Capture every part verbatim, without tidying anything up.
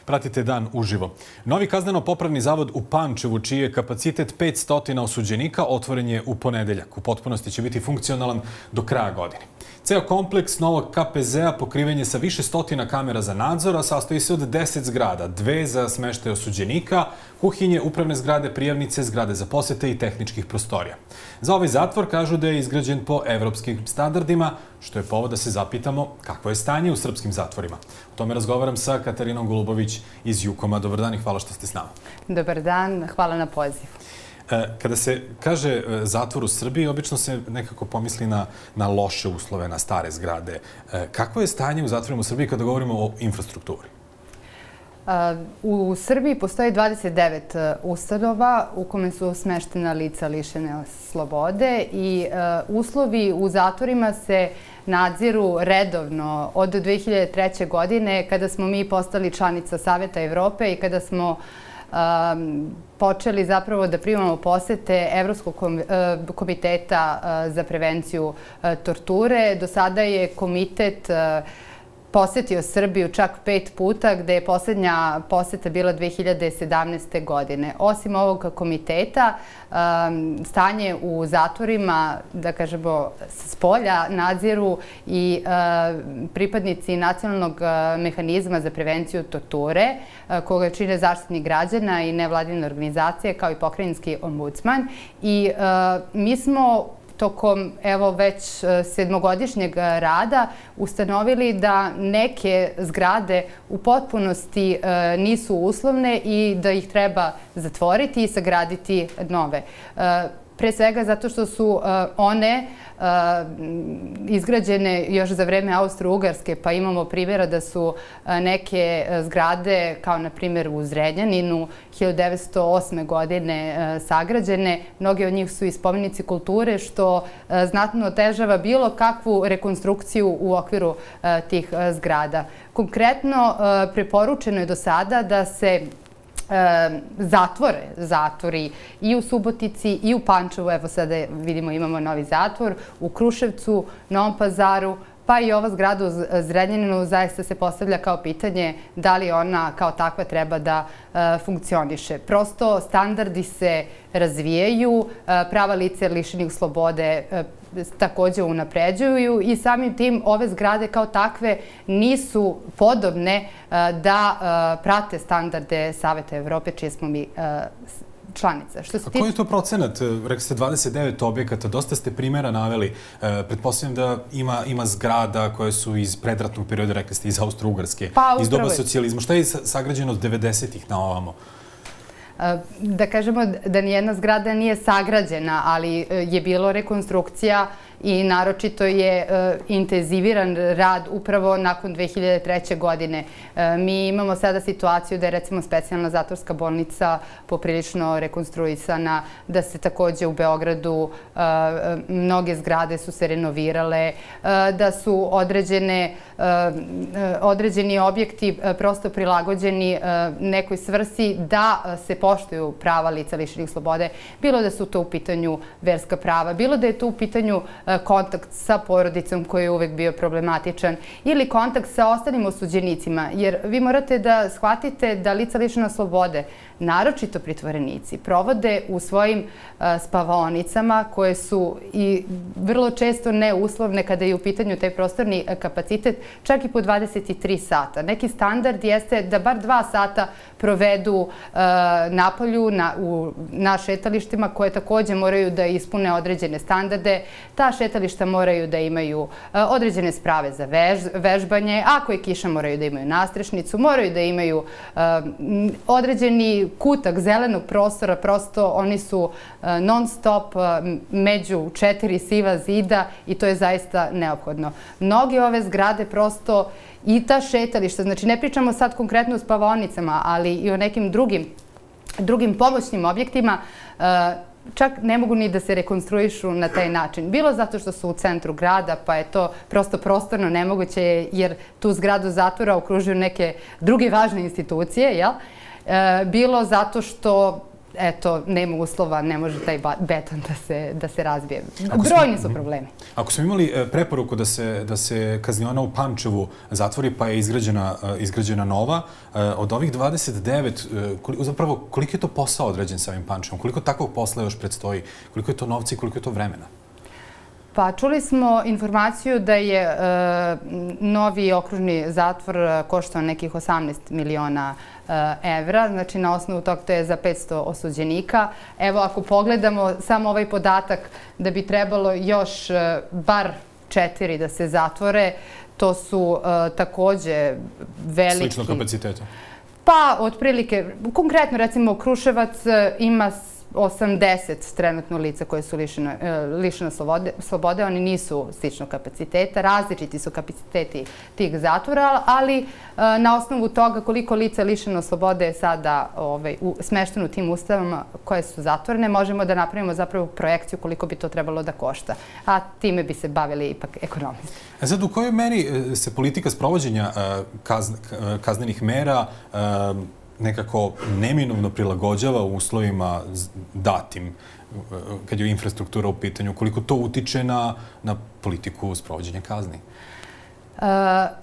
Pratite Dan uživo. Novi kazneno-popravni zavod u Pančevu, čiji je kapacitet petsto osuđenika, otvoren je u ponedeljak. U potpunosti će biti funkcionalan do kraja godine. Ceo kompleks novog K P Z-a pokriven je sa više stotina kamera za nadzor, a sastoji se od deset zgrada, dve za smeštaj osuđenika, kuhinje, upravne zgrade, prijavnice, zgrade za posete i tehničkih prostorija. Za ovaj zatvor kažu da je izgrađen po evropskim standardima, što je povod da se zapitamo kakvo je stanje u srpskim zatvorima. O tome razgovaram sa Katarinom Golubović iz Jukoma. Dobar dan i hvala što ste s nama. Dobar dan, hvala na pozivu. Kada se kaže zatvor u Srbiji, obično se nekako pomisli na, na loše uslove, na stare zgrade. Kako je stanje u zatvorima u Srbiji kada govorimo o infrastrukturi? U Srbiji postoji dvadeset devet ustanova u kome su smeštena lica lišene slobode i uslovi u zatvorima se nadziru redovno od dve hiljade treće. godine kada smo mi postali članica Saveta Evrope i kada smo počeli zapravo da primamo posete Evropskog komiteta za prevenciju torture. Do sada je komitet posetio Srbiju čak pet puta, gde je posljednja poseta bila dve hiljade sedamnaeste. godine. Osim ovog komiteta, stanje u zatvorima, da kažemo, s polja nadziru i pripadnici nacionalnog mehanizma za prevenciju torture, koga čine Zaštitnik građana i nevladine organizacije, kao i pokrajinski ombudsman. I mi smo tokom evo već sedmogodišnjeg rada ustanovili da neke zgrade u potpunosti nisu uslovne i da ih treba zatvoriti i sagraditi nove. Pre svega zato što su one izgrađene još za vreme Austro-Ugarske, pa imamo primjera da su neke zgrade, kao na primjer u Zrenjaninu, hiljadu devetsto osme. godine sagrađene. Mnoge od njih su i spomenici kulture, što znatno otežava bilo kakvu rekonstrukciju u okviru tih zgrada. Konkretno, preporučeno je do sada da se zatvore, zatvori i u Subotici i u Pančevu, evo sada vidimo imamo novi zatvor, u Kruševcu, Novom Pazaru, pa i ova zgrada u Zrenjaninu zaista se postavlja kao pitanje da li ona kao takva treba da funkcioniše. Prosto standardi se razvijaju, prava lica lišenih slobode također unapređuju i samim tim ove zgrade kao takve nisu podobne da prate standarde Saveta Evrope, čije smo mi članica. A koji je to procenat? Rekli ste dvadeset devet objekata, dosta ste primjera naveli. Pretpostavljam da ima, ima zgrada koje su iz predratnog perioda, rekli ste iz Austro-Ugarske, pa, iz doba socijalizma. Šta je sagrađeno od devedesetih na ovamo? Da kažemo da nijedna zgrada nije sagrađena, ali je bilo rekonstrukcija i naročito je intenziviran rad upravo nakon dve hiljade treće. godine. Mi imamo sada situaciju da je recimo specijalna zatvorska bolnica poprilično rekonstruisana, da se također u Beogradu mnoge zgrade su se renovirale, da su određene, određeni objekti prosto prilagođeni nekoj svrsi da se poštuju prava lica lišenih slobode, bilo da su to u pitanju verska prava, bilo da je to u pitanju kontakt sa porodicom koji je uvek bio problematičan ili kontakt sa ostalim osuđenicima. Jer vi morate da shvatite da lica lišena slobode, naročito pritvorenici, provode u svojim spavaonicama koje su i vrlo često neuslovne kada je u pitanju taj prostorni kapacitet, čak i po dvadeset tri sata. Neki standard jeste da bar dva sata provedu napolju na šetalištima koje također moraju da ispune određene standarde. Ta šetališta moraju da imaju određene sprave za vežbanje, ako je kiša moraju da imaju nastrešnicu, moraju da imaju određeni kutak zelenog prostora, prosto oni su non stop među četiri siva zida i to je zaista neophodno. Mnoge ove zgrade prosto i ta šetališta, znači ne pričamo sad konkretno o spavaonicama, ali i o nekim drugim, drugim pomoćnim objektima, čak ne mogu ni da se rekonstruišu na taj način. Bilo zato što su u centru grada, pa je to prosto prostorno nemoguće, jer tu zgradu zatvora okružuju neke druge važne institucije, jel? Bilo zato što eto, nema uslova, ne može taj beton da se razbije. Brojni su problemi. Ako smo imali preporuku da se kazniona u Pančevu zatvori, pa je izgrađena nova, od ovih dvadeset devet, zapravo, koliko je to posao određen sa ovim Pančevom? Koliko takvog posla još predstoji? Koliko je to novca i koliko je to vremena? Pa čuli smo informaciju da je novi okružni zatvor koštao nekih osamnaest miliona evra, znači na osnovu toga to je za petsto osuđenika. Evo, ako pogledamo samo ovaj podatak da bi trebalo još bar četiri da se zatvore, to su takođe veliki... Slično kapaciteta? Pa, otprilike, konkretno recimo Kruševac ima osamdeset trenutno lica koje su lišena slobode. Oni nisu sličnog kapaciteta, različiti su kapaciteti tih zatvora, ali na osnovu toga koliko lica je lišeno slobode je sada smešteno u tim ustavama koje su zatvorene, možemo da napravimo zapravo projekciju koliko bi to trebalo da košta. A time bi se bavili ipak ekonomisti. E sad, u kojoj meri se politika sprovođenja kaznenih mera nekako neminovno prilagođava u uslovima datim, kad je infrastruktura u pitanju, koliko to utiče na politiku sprovođenja kazni?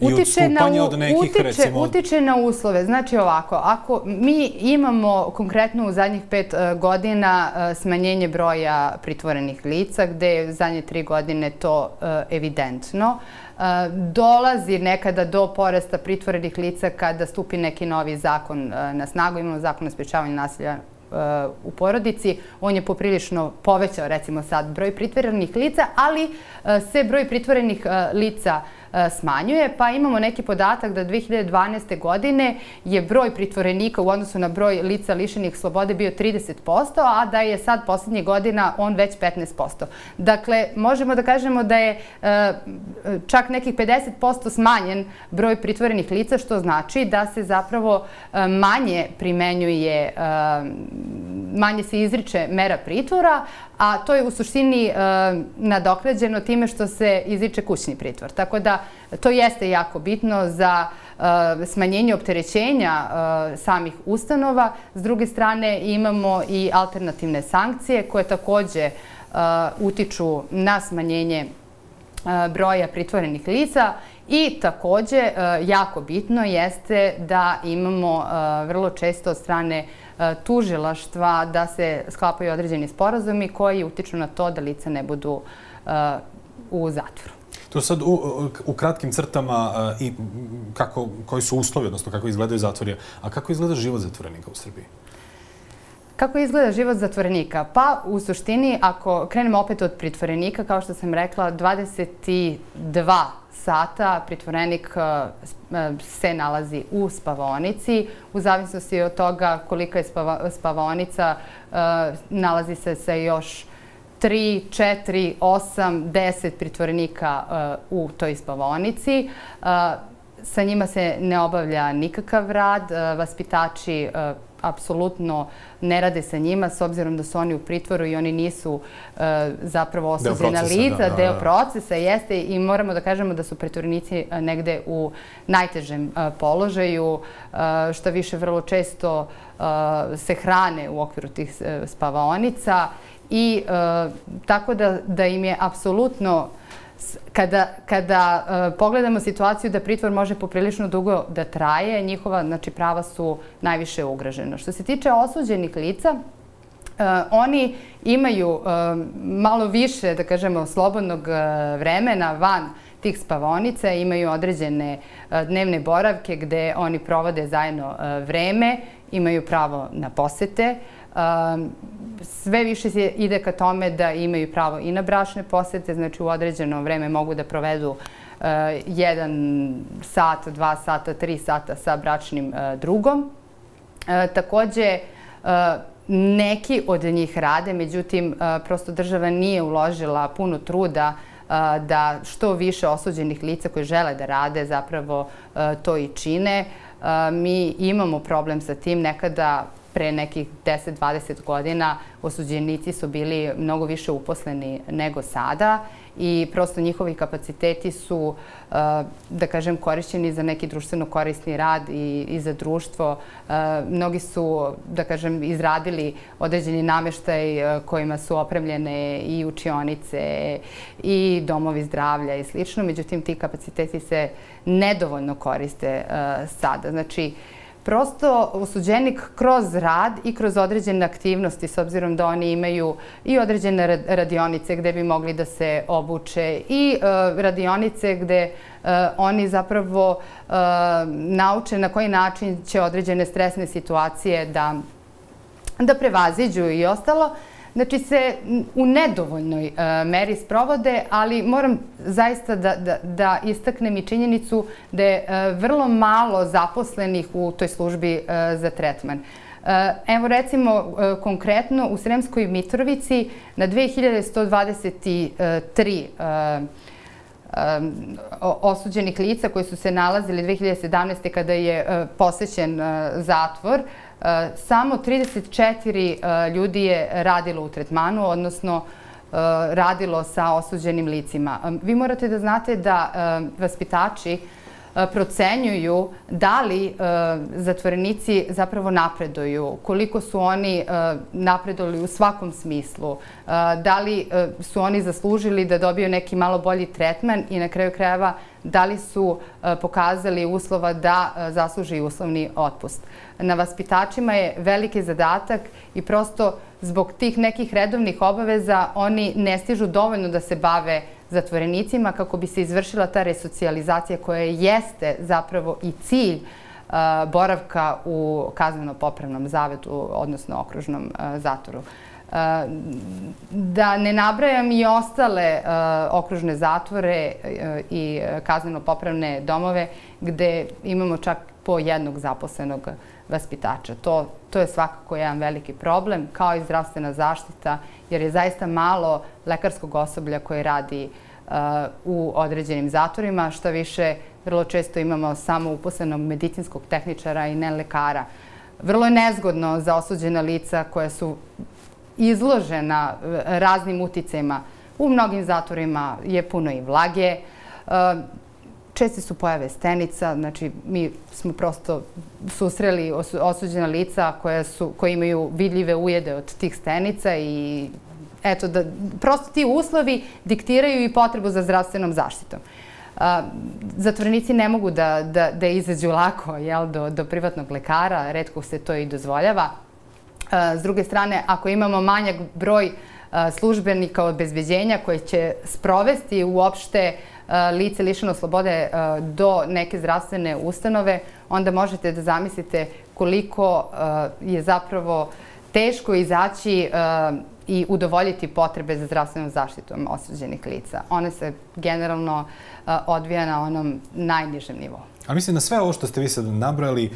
I odstupanje od nekih, recimo... Utiče na uslove. Znači ovako, ako mi imamo konkretno u zadnjih pet godina smanjenje broja pritvorenih lica, gde je zadnje tri godine to evidentno, dolazi nekada do porasta pritvorenih lica kada stupi neki novi zakon na snagu. Imamo zakon o sprečavanju nasilja u porodici. On je poprilično povećao, recimo sad, broj pritvorenih lica, ali se broj pritvorenih lica smanjuje, pa imamo neki podatak da dve hiljade dvanaeste. godine je broj pritvorenika u odnosu na broj lica lišenih slobode bio trideset posto, a da je sad poslednjih godina on već petnaest posto. Dakle, možemo da kažemo da je čak nekih pedeset posto smanjen broj pritvorenih lica, što znači da se zapravo manje primenjuje, manje se izriče mera pritvora, a to je u suštini nadoknađeno time što se izriče kućni pritvor. Tako da to jeste jako bitno za smanjenje opterećenja samih ustanova. S druge strane imamo i alternativne sankcije koje takođe utiču na smanjenje broja pritvorenih lica i takođe jako bitno jeste da imamo vrlo često od strane tužilaštva da se sklapaju određeni sporazumi koji utiču na to da lica ne budu u zatvoru. To sad u kratkim crtama koji su uslovi, odnosno kako izgledaju zatvori, a kako izgleda život zatvorenika u Srbiji? Kako izgleda život zatvorenika? Pa, u suštini, ako krenemo opet od pritvorenika, kao što sam rekla, dvadeset dva sata pritvorenik se nalazi u spavaonici. U zavisnosti od toga kolika je spavaonica, nalazi se sa još tri, četiri, osam, deset pritvorenika u toj spavaonici. Sa njima se ne obavlja nikakav rad. Vaspitači apsolutno ne rade sa njima, s obzirom da su oni u pritvoru i oni nisu zapravo osuđena lica, deo procesa jeste, i moramo da kažemo da su pritvorenici negde u najtežem položaju, što više vrlo često se hrane u okviru tih spavaonica i tako da im je apsolutno, kada pogledamo situaciju da pritvor može poprilično dugo da traje, njihova prava su najviše ugrožena. Što se tiče osuđenih lica, oni imaju malo više, da kažemo, slobodnog vremena van tih spavaonica, imaju određene dnevne boravke gde oni provode zajedno vreme, imaju pravo na posete. Sve više se ide ka tome da imaju pravo i na bračne posete, znači u određeno vreme mogu da provedu jedan sat, dva sata, tri sata sa bračnim drugom. Takođe, neki od njih rade, međutim, prosto država nije uložila puno truda da što više osuđenih lica koji žele da rade zapravo to i čine. Mi imamo problem sa tim. Nekada, pre nekih deset do dvadeset godina, osuđenici su bili mnogo više uposleni nego sada i prosto njihovi kapaciteti su, da kažem, korišćeni za neki društveno korisni rad i, i za društvo. Mnogi su, da kažem, izradili određeni nameštaj kojima su opremljene i učionice i domovi zdravlja i slično. Međutim, ti kapaciteti se nedovoljno koriste sada. Znači, prosto osuđenik kroz rad i kroz određene aktivnosti, s obzirom da oni imaju i određene radionice gde bi mogli da se obuče i radionice gde oni zapravo nauče na koji način će određene stresne situacije da, da prevaziđu i ostalo. Znači se u nedovoljnoj meri sprovode, ali moram zaista da, da, da istaknem i činjenicu da je vrlo malo zaposlenih u toj službi za tretman. Evo recimo konkretno u Sremskoj Mitrovici na dve hiljade sto dvadeset tri osuđenih lica koji su se nalazili dve hiljade sedamnaeste. kada je posećen zatvor, samo trideset četiri ljudi je radilo u tretmanu, odnosno radilo sa osuđenim licima. Vi morate da znate da vaspitači procenjuju da li zatvorenici zapravo napreduju, koliko su oni napredovali u svakom smislu, da li su oni zaslužili da dobiju neki malo bolji tretman i na kraju krajeva da li su pokazali uslova da zasluži uslovni otpust. Na vaspitačima je veliki zadatak i prosto zbog tih nekih redovnih obaveza oni ne stižu dovoljno da se bave zatvorenicima kako bi se izvršila ta resocijalizacija koja jeste zapravo i cilj boravka u kazneno-popravnom zavedu, odnosno okružnom zatvoru. Da ne nabrajam i ostale okružne zatvore i kazneno-popravne domove gde imamo čak po jednog zaposlenog vaspitača. To, to je svakako jedan veliki problem, kao i zdravstvena zaštita, jer je zaista malo lekarskog osoblja koje radi uh, u određenim zatvorima. Šta više, vrlo često imamo samo uposlenog medicinskog tehničara i ne lekara. Vrlo je nezgodno za osuđena lica koja su izložena raznim uticajima. U mnogim zatvorima je puno i vlage, uh, česte su pojave stenica, znači mi smo prosto susreli osuđena lica koja su, koji imaju vidljive ujede od tih stenica i eto, da, prosto ti uslovi diktiraju i potrebu za zdravstvenom zaštitom. A, zatvorenici ne mogu da, da, da izađu lako, jel, do, do privatnog lekara, retko se to i dozvoljava. A, s druge strane, ako imamo manjak broj a, službenika obezbeđenja koji će sprovesti uopšte lice lišeno slobode do neke zdravstvene ustanove, onda možete da zamislite koliko je zapravo teško izaći i udovoljiti potrebe za zdravstvenom zaštitom osuđenih lica. One se generalno odvija na onom najnižem nivou. A mislim da sve ovo što ste vi sad nabrojali,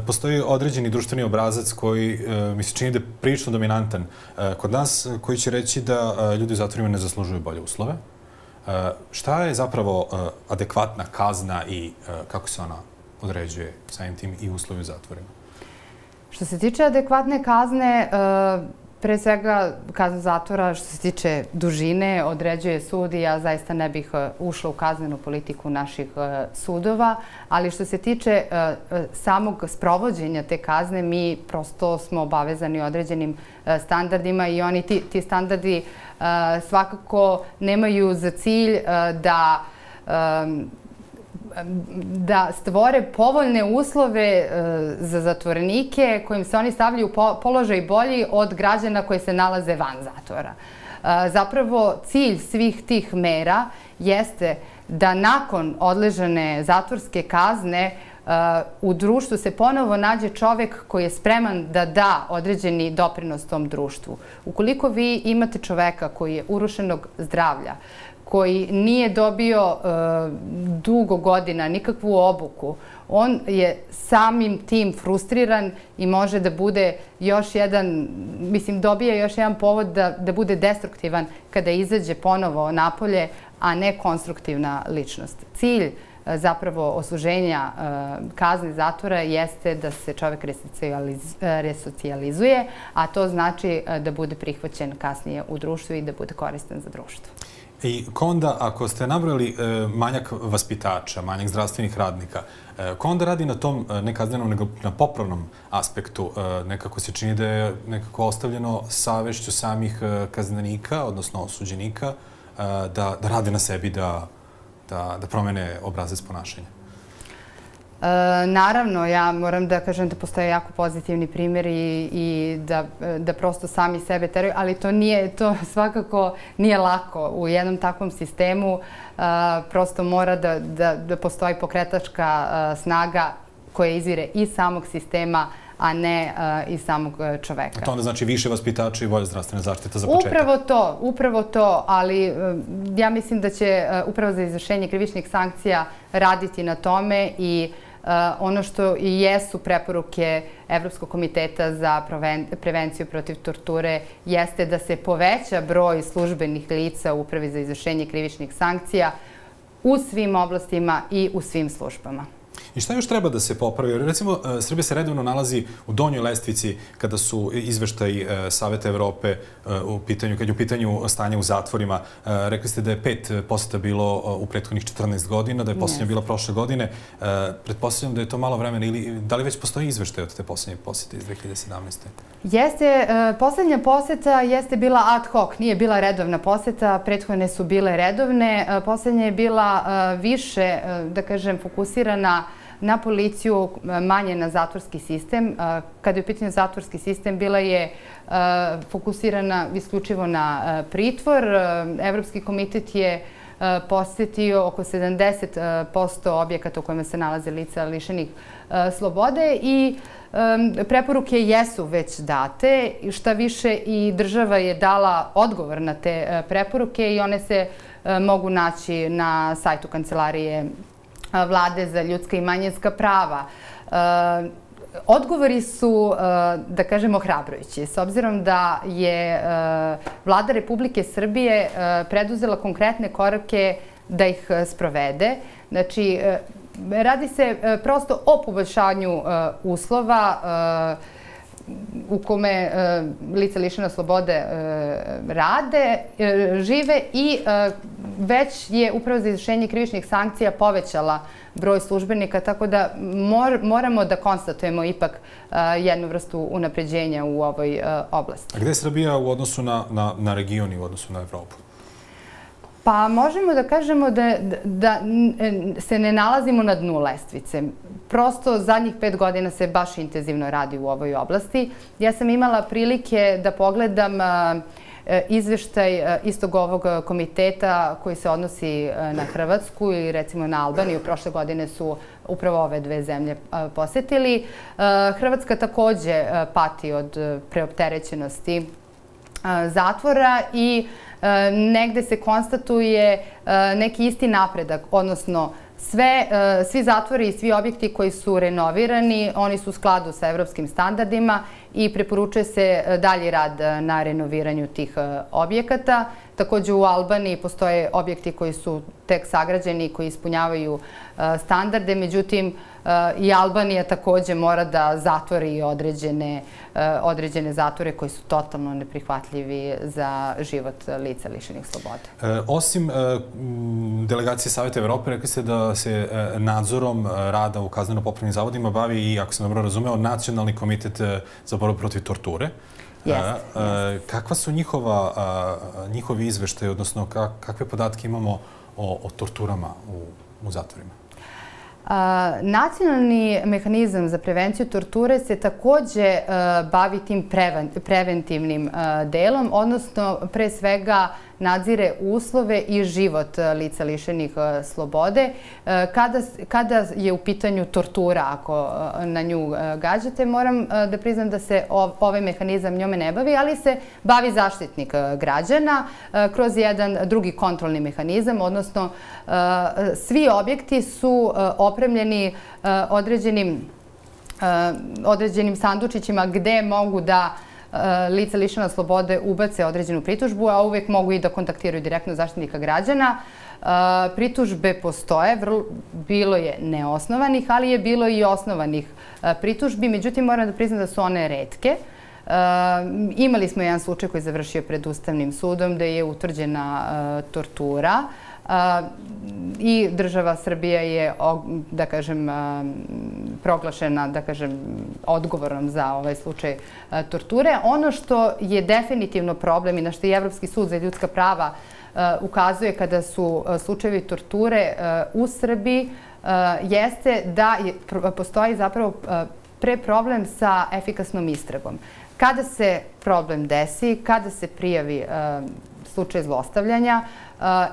postoji određeni društveni obrazac koji mi se čini da je prilično dominantan kod nas, koji će reći da ljudi u zatvorima ne zaslužuju bolje uslove. Šta je zapravo adekvatna kazna i kako se ona određuje samim tim i uslovi u zatvorima? Što se tiče adekvatne kazne, pre svega kazna zatvora, što se tiče dužine, određuje sud i ja zaista ne bih ušla u kaznenu politiku naših sudova, ali što se tiče samog sprovođenja te kazne, mi prosto smo obavezani određenim standardima i oni ti, ti standardi svakako nemaju za cilj da da stvore povoljne uslove za zatvorenike kojim se oni stavljaju u položaj bolji od građana koji se nalaze van zatvora. Zapravo, cilj svih tih mera jeste da nakon odležane zatvorske kazne u društvu se ponovo nađe čovek koji je spreman da da određeni doprinos tom društvu. Ukoliko vi imate čoveka koji je urušenog zdravlja, koji nije dobio dugo godina nikakvu obuku, on je samim tim frustriran i može da bude još jedan, mislim, dobije još jedan povod da, da bude destruktivan kada izađe ponovo napolje, a ne konstruktivna ličnost. Cilj zapravo osuženja kazne zatvora jeste da se čovek resocijalizuje, a to znači da bude prihvaćen kasnije u društvu i da bude koristan za društvo. I onda, ako ste nabrali manjak vaspitača, manjak zdravstvenih radnika, ko onda radi na tom ne kaznenom, nego na popravnom aspektu? Nekako se čini da je nekako ostavljeno savešću samih kaznenika, odnosno osuđenika, da rade na sebi, da promene obrazac ponašanja. Naravno, ja moram da kažem da postoje jako pozitivni primjeri i da prosto sami sebe teraju, ali to nije, to svakako nije lako. U jednom takvom sistemu prosto mora da postoji pokretačka snaga koja izvire iz samog sistema, a ne iz samog čoveka. To onda znači više vaspitača i bolja zdravstvena zaštita za početak. Upravo to, upravo to, ali ja mislim da će Uprava za izvršenje krivičnih sankcija raditi na tome i ono što i jesu preporuke Evropskog komiteta za prevenciju protiv torture jeste da se poveća broj službenih lica u Upravi za izvršenje krivičnih sankcija u svim oblastima i u svim službama. I šta još treba da se popravi? Recimo, Srbija se redovno nalazi u donjoj lestvici kada su izveštaji Saveta Evrope u pitanju, kad je u pitanju stanje u zatvorima. Rekli ste da je pet poseta bilo u prethodnih četrnaest godina, da je posljednja bila prošle godine. Pretpostavljam da je to malo vremena ili da li već postoji izveštaj od te posljednje posete iz dve hiljade sedamnaeste. Jeste, posljednja poseta jeste bila ad hoc, nije bila redovna poseta, prethodne su bile redovne. Posljednja je bila više, da kažem, fokusirana na policiju, manje na zatvorski sistem. Kada je u pitanju zatvorski sistem, bila je fokusirana isključivo na pritvor. Evropski komitet je posjetio oko sedamdeset posto objekata u kojima se nalaze lica lišenih slobode i preporuke jesu već date. Šta više, i država je dala odgovor na te preporuke i one se mogu naći na sajtu Kancelarije Vlade za ljudska i manjinska prava. Odgovori su, da kažemo, ohrabrujući. S obzirom da je Vlada Republike Srbije preduzela konkretne korake da ih sprovede. Znači, radi se prosto o poboljšanju uslova u kome lica lišena slobode rade, žive i već je Uprava za izvršenje krivičnih sankcija povećala broj službenika, tako da moramo da konstatujemo ipak jednu vrstu unapređenja u ovoj oblasti. A gde je Srbija u odnosu na region i u odnosu na Evropu? Pa možemo da kažemo da se ne nalazimo na dnu lestvice. Prosto zadnjih pet godina se baš intenzivno radi u ovoj oblasti. Ja sam imala prilike da pogledam izveštaj istog ovog komiteta koji se odnosi na Hrvatsku i recimo na Albaniju. Prošle godine su upravo ove dve zemlje posetili. Hrvatska takođe pati od preopterećenosti zatvora i negde se konstatuje neki isti napredak, odnosno svi zatvori i svi objekti koji su renovirani, oni su u skladu sa evropskim standardima i preporučuje se dalji rad na renoviranju tih objekata. Također u Albaniji postoje objekti koji su tek sagrađeni i koji ispunjavaju standarde, međutim i Albanija također mora da zatvori određene zatvore koji su totalno neprihvatljivi za život lica lišenih slobode. Osim delegacije Saveta Evrope, rekli ste da se nadzorom rada u kazneno-popravnim zavodima bavi i, ako sam dobro razumeo, Nacionalni komitet za borbu protiv torture. Kakva su njihovi izveštaji, odnosno kakve podatke imamo o torturama u zatvorima? Nacionalni mehanizam za prevenciju torture se također bavi tim preventivnim delom, odnosno pre svega nadzire uslove i život lica lišenih slobode. Kada je u pitanju tortura, ako na nju gađate, moram da priznam da se ovaj mehanizam njome ne bavi, ali se bavi zaštitnik građana kroz jedan drugi kontrolni mehanizam, odnosno svi objekti su opremljeni određenim sandučićima gde mogu da lica lišena slobode ubace određenu pritužbu, a uvijek mogu i da kontaktiraju direktno zaštitnika građana. Pritužbe postoje, bilo je neosnovanih, ali je bilo i osnovanih pritužbi. Međutim, moram da priznam da su one retke. Imali smo jedan slučaj koji je završio pred Ustavnim sudom gde je utvrđena tortura i država Srbija je, da kažem, proglašena, da kažem, odgovornom za ovaj slučaj torture. Ono što je definitivno problem i na što je Evropski sud za ljudska prava ukazuje kada su slučajevi torture u Srbiji jeste da postoji zapravo pre problem sa efikasnom istragom. Kada se problem desi, kada se prijavi slučaj zlostavljanja,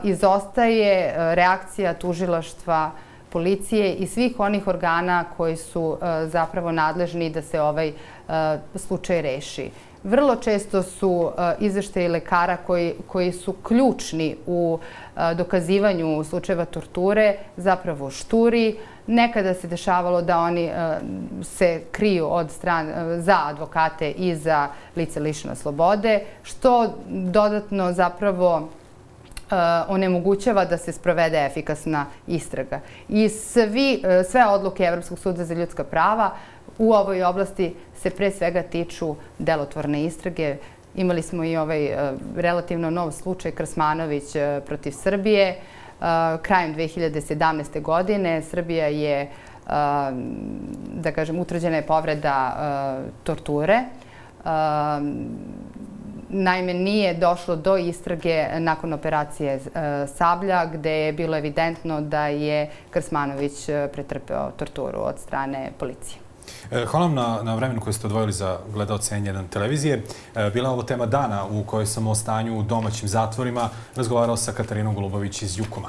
izostaje reakcija tužilaštva, policije i svih onih organa koji su zapravo nadležni da se ovaj slučaj reši. Vrlo često su izveštaji lekara koji su ključni u dokazivanju slučajeva torture zapravo šturi. Nekada se dešavalo da oni se kriju od strane za advokate i za lice lišene slobode, što dodatno zapravo onemogućava da se sprovede efikasna istraga. I sve odluke Evropskog suda za ljudska prava u ovoj oblasti se pre svega tiču delotvorne istrage. Imali smo i ovaj relativno nov slučaj Krsmanović protiv Srbije. Krajem dve hiljade sedamnaeste. godine Srbija je, da kažem, utvrđena je povreda torture. Naime, nije došlo do istrage nakon operacije Sablja, gde je bilo evidentno da je Krsmanović pretrpeo torturu od strane policije. Hvala vam na vremenu koje ste odvojili za gledaoce N jedan televizije. Bila je ovo tema dana u kojoj sam o stanju u domaćim zatvorima razgovarao sa Katarinom Golubović iz Jukoma.